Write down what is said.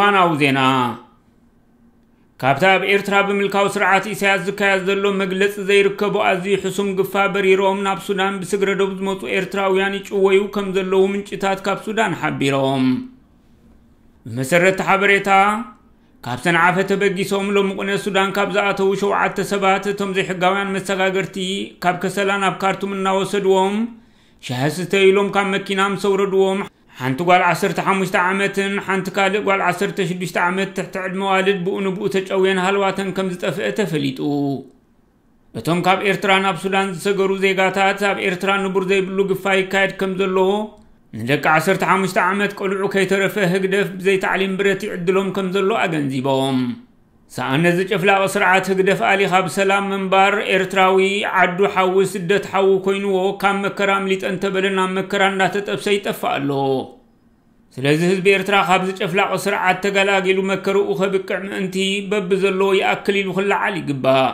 እዋናዊ ዜና። ካብቲ ኣብ ኤርትራ ብምልካዊ ስርዓት ኢሳያስ ዝካየድ ዘሎ መግለጺ ዘይርከቦ ኣዝዩ ሕሱም ግፋ በሪሮም ናብ ሱዳን ብስግረ ዶብ ዝመጹ ኤርትራውያን ይጭወዩ ከም ዘለዉ ምንጭታት ካብ ሱዳን ሓቢሮም። ብመሰረት ሓበሬታ፣ ካብ ሰንዓፈ ተበጊሶም ሎሚ ቁነ ሱዳን ካብ ዝኣተዉ ሸውዓተ ሰባት፣ እቶም ዘይሕጋውያን መሰጋገርቲ ካብ ከሰላ ናብ ካርቱም እናወሰድዎም ሻሂ ስተዩ ኢሎም ካብ መኪና ምስ ኣውረድዎም፣ ሓንቲ ጓል ዓሰርተ ሓሙሽተ ዓመትን ሓንቲ ካልእ ጓል ዓሰርተ ሽዱሽተ ዓመት ትሕቲ ዕድመ ዋልድ ብኡ ንብኡ ተጨውየን ሃልዋተን ከም ዝጠፍአ ተፈሊጡ። እቶም ካብ ኤርትራ ናብ ሱዳን ዝሰገሩ ዜጋታት፣ ኣብ ኤርትራ ንቡር ዘይብሉ ግፋ ይካየድ ከም ዘሎ፣ ንደቂ ዓሰርተ ሓሙሽተ ዓመት ቆልዑ ከይተረፈ ህግደፍ ብዘይ ታዕሊም ብረት ይዕድሎም ከም ዘሎ ኣገንዚቦም። ሰኣን ነዚ ጨፍላቒ ስርዓት ህግደፍ ኣሊ ካብ ሰላም ምንባር፣ ኤርትራዊ ዓዱ ሓዊ ስደት ሓዊ ኮይንዎ፣ ካብ መከራ ኣምሊጠ እንተበለ ናብ መከራ እንዳተጠብሰ ይጠፍእ ኣሎ። ስለዚ ህዝቢ ኤርትራ ካብዚ ጨፍላቒ ስርዓት ተገላጊሉ መከርኡ ከብቅዕ ምእንቲ፣ በብዘለዎ ይኣክል ኢሉ ክለዓል ይግባእ።